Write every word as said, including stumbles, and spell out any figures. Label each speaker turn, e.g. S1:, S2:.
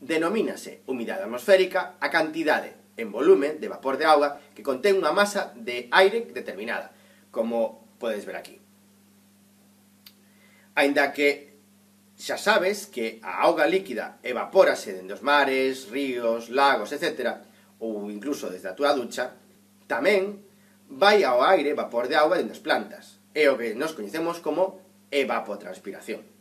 S1: Denomínase humidade atmosférica a cantidade en volumen de vapor de auga que contén unha masa de aire determinada, como podes ver aquí. Aínda que xa sabes que a auga líquida evapórase dende os mares, ríos, lagos, etcétera, ou incluso desde a túa ducha, tamén vai ao aire vapor de auga dende as plantas, é o que nos coñecemos como evapotranspiración.